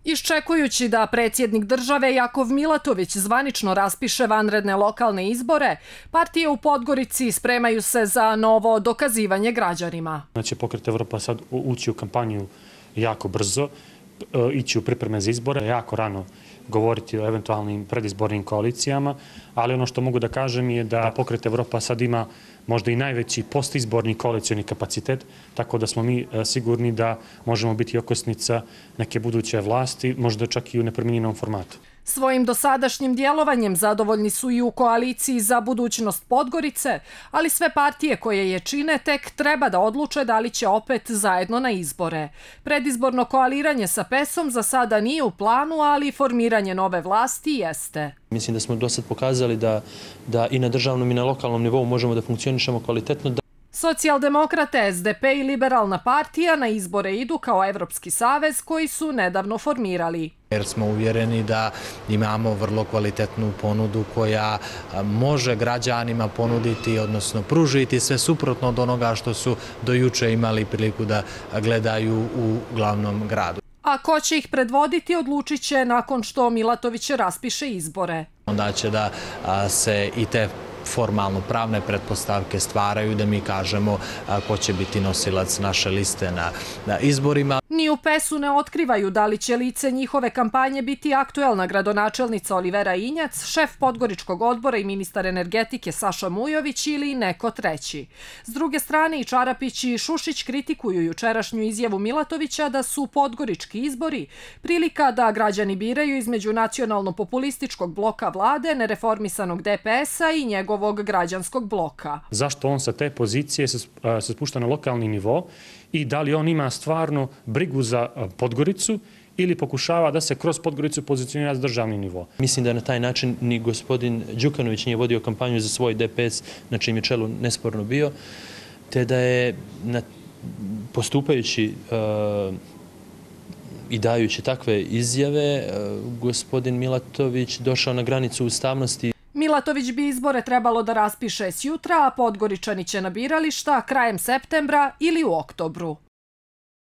Iščekujući da predsjednik države Jakov Milatović zvanično raspiše vanredne lokalne izbore, partije u Podgorici spremaju se za novo dokazivanje građanima. Znači, Pokret Evropa sad ući u kampanju jako brzo, ići u pripreme za izbore, jako rano govoriti o eventualnim predizbornim koalicijama, ali ono što mogu da kažem je da Pokret Evropa sad ima možda i najveći postizborni koalicioni kapacitet, tako da smo mi sigurni da možemo biti okosnica neke buduće vlasti, možda čak i u nepromijenjenom formatu. Svojim dosadašnjim djelovanjem zadovoljni su i u koaliciji za budućnost Podgorice, ali sve partije koje je čine tek treba da odluče da li će opet zajedno na izbore. Predizborno koaliranje sa PES-om za sada nije u planu, ali formiranje nove vlasti jeste. Mislim da smo do sad pokazali da i na državnom i na lokalnom nivou možemo da funkcionišemo kvalitetno. Socijaldemokrate, SDP i Liberalna partija na izbore idu kao Evropski savez koji su nedavno formirali. Jer smo uvjereni da imamo vrlo kvalitetnu ponudu koja može građanima ponuditi, odnosno pružiti sve suprotno od onoga što su do juče imali priliku da gledaju u glavnom gradu. A ko će ih predvoditi odlučit će nakon što Milatović raspiše izbore. Onda će da se i te formalno pravne pretpostavke stvaraju da mi kažemo ko će biti nosilac naše liste na izborima. Ni u PES-u ne otkrivaju da li će lice njihove kampanje biti aktuelna gradonačelnica Olivera Injac, šef Podgoričkog odbora i ministar energetike Saša Mujović ili neko treći. S druge strane i Čarapić i Šušić kritikuju jučerašnju izjavu Milatovića da su podgorički izbori prilika da građani biraju između nacionalno-populističkog bloka vlade, nereformisanog DPS-a i njegovog građanskog bloka. Zašto on sa te pozicije se spušta na lokalni nivo i da li on ima stvarno brigu za Podgoricu ili pokušava da se kroz Podgoricu pozicionira za državni nivo? Mislim da na taj način ni gospodin Đukanović nije vodio kampanju za svoj DPS, na čim je čelu nesporno bio, te da je postupajući i dajući takve izjave, gospodin Milatović došao na granicu ustavnosti. Milatović bi izbore trebalo da raspiše sjutra, a Podgoričani će na birališta krajem septembra ili u oktobru.